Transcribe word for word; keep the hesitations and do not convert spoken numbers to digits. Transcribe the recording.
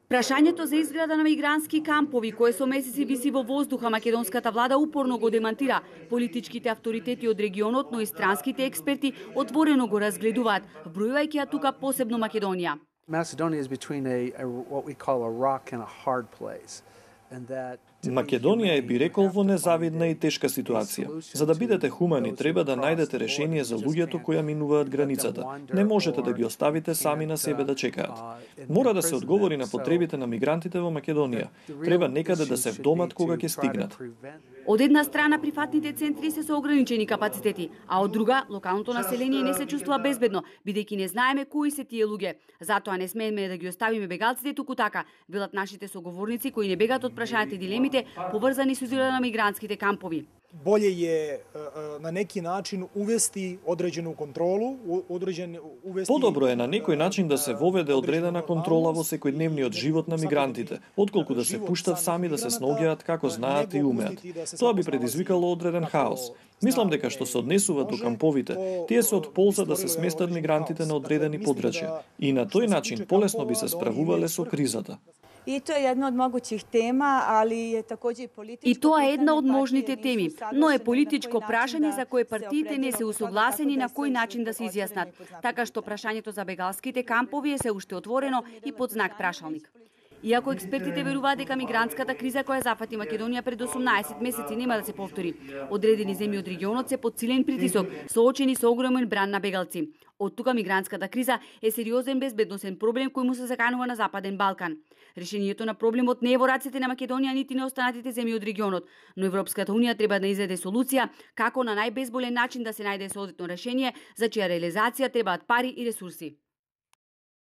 Прашањето за изграда на мигрантски кампови, кое со месеци виси во воздуха, македонската влада упорно го демантира. Политичките авторитети од регионот, но и странските експерти отворено го разгледуваат, вбројувајќи ја тука посебно Македонија. Macedonia is between a, a what we call a rock and a hard place. Македонија е, би рекол, во незавидна и тешка ситуација. За да бидете хумани, треба да најдете решение за луѓето кои минуваат границата. Не можете да ги оставите сами на себе да чекаат. Мора да се одговори на потребите на мигрантите во Македонија. Треба некаде да се вдомат кога ќе стигнат. Од една страна прифатните центри се со ограничени капацитети, а од друга локалното население не се чувствува безбедно, бидејќи не знаеме кои се тие луѓе. Затоа не смееме да ги оставиме бегалците туку така, велат нашите соговорници кои не бегат од прашањата и дилемите поврзани со изградата на мигрантските кампови. Болje je na neki način uvesti određenu kontrolu, određen uvesti. Подобро е на некој начин да се воведе одредена контрола во секојдневниот живот на мигрантите, отколку да се пуштат сами да се сноѓаат како знаат и умеат. Тоа би предизвикало одреден хаос. Мислам дека што се однесуваат до камповите, тие се од полза да се сместат мигрантите на одредени подрачја и на тој начин полесно би се справувале со кризата. И тоа е една од могуćih тема, али е такоđe и политичко. И тоа е една од можните теми, но е политичко прашање за кое партиите не се усогласени на кој начин да се изјаснат, така што прашањето за бегалските кампови е се уште отворено и под знак прашалник. Иако експертите веруваат дека мигрантската криза која зафати Македонија пред осумнаесет месеци нема да се повтори, одредени земји од регионот се под силен притисок, соочени со огромен бран на бегалци. Од тука мигрантската криза е сериозен безбедносен проблем кој му се заканува на Западен Балкан. Решението на проблемот не е во рацете на Македонија нити на останатите земји од регионот, но Европската унија треба да изеде солуција како на најбезболен начин да се најде соодветно решение за чија реализација требаат пари и ресурси.